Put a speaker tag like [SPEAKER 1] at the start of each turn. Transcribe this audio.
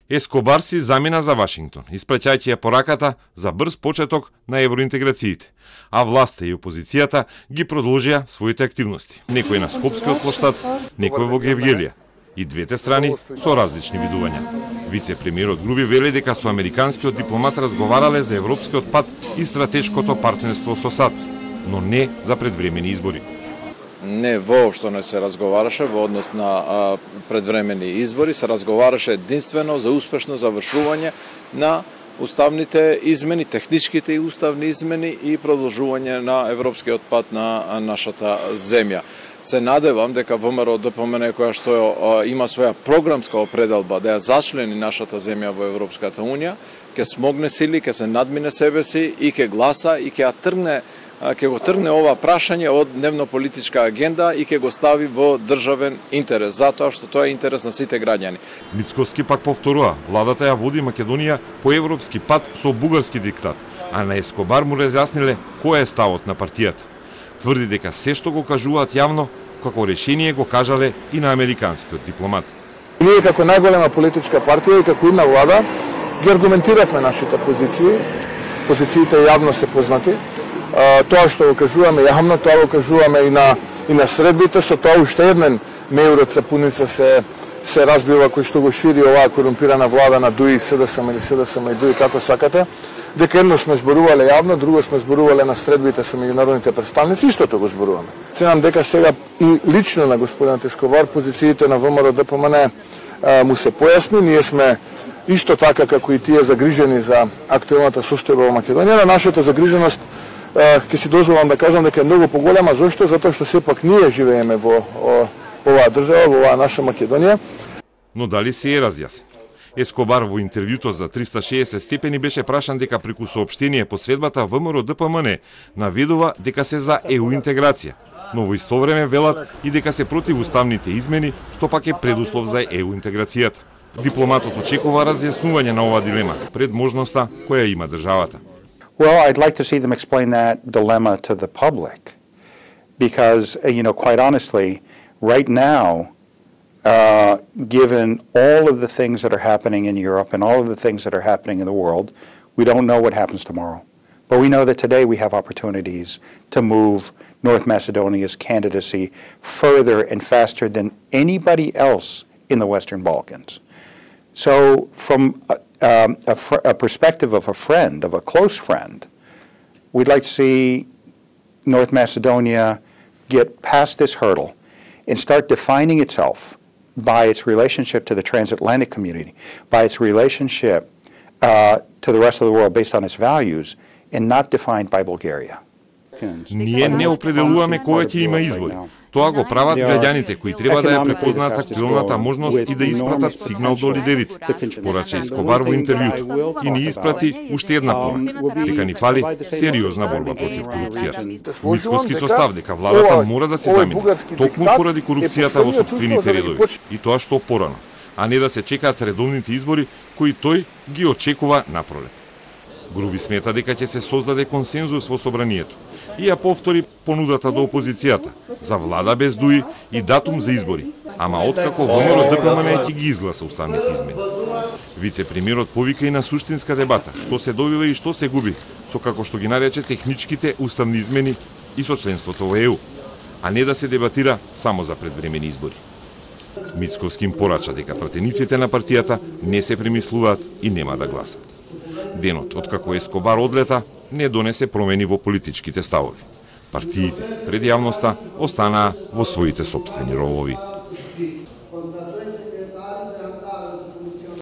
[SPEAKER 1] Ескобар си замина за Вашингтон, испраќајќи ја пораката за брз почеток на евроинтеграциите, а власта и опозицијата ги продолжија своите активности. Некој на Скопскиот плоштад, некој во Гевгелија. И двете страни со различни видувања. Вице-премиерот Груби вели дека со американскиот дипломат разговарале за европскиот пат и стратешкото партнерство со САД, но не за предвремени избори.
[SPEAKER 2] Не, воопшто не се разговараше во однос на предвремени избори, се разговараше единствено за успешно завршување на уставните измени, техничките и уставни измени и продолжување на европскиот пат на нашата земја. Се надевам дека ВМРО ДПМН, која што има своја програмска определба да ја зачлени нашата земја во Европската Унија, ќе смогне сили, ќе се надмине себе си и ќе гласа и ќе го тргне ова прашање од дневно-политичка агенда и ќе го стави во државен интерес, затоа што тоа е интерес на сите граѓани.
[SPEAKER 1] Мицковски пак повторува, владата ја води Македонија по европски пат со бугарски диктат, а на Ескобар му разјасниле кој е ставот на партијата. Тврди дека се што го кажуваат јавно, како решение го кажале и на американскиот дипломат.
[SPEAKER 3] Ние како најголема политичка партија и како една влада ги аргументиравме нашите позиции. Позициите јавно се познати. Тоа што го кажуваме јавно, тоа го кажуваме и на средбите, со тоа уште еден мејурот сапуница се разбива кој што го шири оваа корумпирана влада на ДУИ, СДСМ или СДСМ и ДУИ, како сакате, дека едно сме зборувале јавно, друго сме зборувале на средбите со меѓународните представници, истото го зборуваме. Ценам дека сега и лично на господинот Ескобар позициите на ВМРО ДПМН му се појасни, ние сме исто така како и тие загрижени за актуелната состојба во Македонија. На нашата загриженост ќе си дозволам да кажам дека е многу поголема. Зошто? Затоа што сепак ние живееме во оваа држава, во оваа наша Македонија.
[SPEAKER 1] Но дали се е разјасен? Ескобар во интервјуто за 360 степени беше прашан дека преку соопштение посредбата ВМРО ДПМН наведува дека се за ЕУ интеграција, но во исто време велат и дека се против уставните измени, што пак е предуслов за ЕУ интеграцијата. Дипломатот очекува разјаснување на оваа дилема пред можноста која има државата.
[SPEAKER 4] Well, I'd like to see them explain that dilemma to the public because, quite honestly, right now, given all of the things that are happening in Europe and all of the things that are happening in the world, we don't know what happens tomorrow. But we know that today we have opportunities to move North Macedonia's candidacy further and faster than anybody else in the Western Balkans. So from a perspective of a friend, of a close friend, we'd like to see North Macedonia get past this hurdle and start defining itself by its relationship to the transatlantic community, by its relationship to the rest of the world based on its values, and not defined by Bulgaria.
[SPEAKER 1] Ние не определуваме кој ќе има избори. Тоа го прават граѓаните кои треба да ја препознаат актуелната можност и да испратат сигнал до лидерите, порача Ескобар во интервјуто. И ни испрати уште една порака, дека ни фали сериозна борба против корупцијата. Мицковски состав дека владата мора да се замине, токму поради корупцијата во сопствените редови, и тоа што порано, а не да се чекаат редовните избори кои тој ги очекува напролет. Груби смета дека ќе се создаде консензус во собранието и ја повтори понудата до опозицијата за влада без ДУИ и датум за избори, ама откако ВМРО ДПМН ќе ги изгласа уставните измени. Вице-премиерот повика и на суштинска дебата, што се добива и што се губи, со како што ги нарече техничките уставни измени и со членството во ЕУ, а не да се дебатира само за предвремени избори. Мицковски им порача дека пратениците на партијата не се премислуваат и нема да гласат. Денот откако Ескобар одлета не донесе промени во политичките ставови. Партиите пред јавноста останаа во своите сопствени ровови.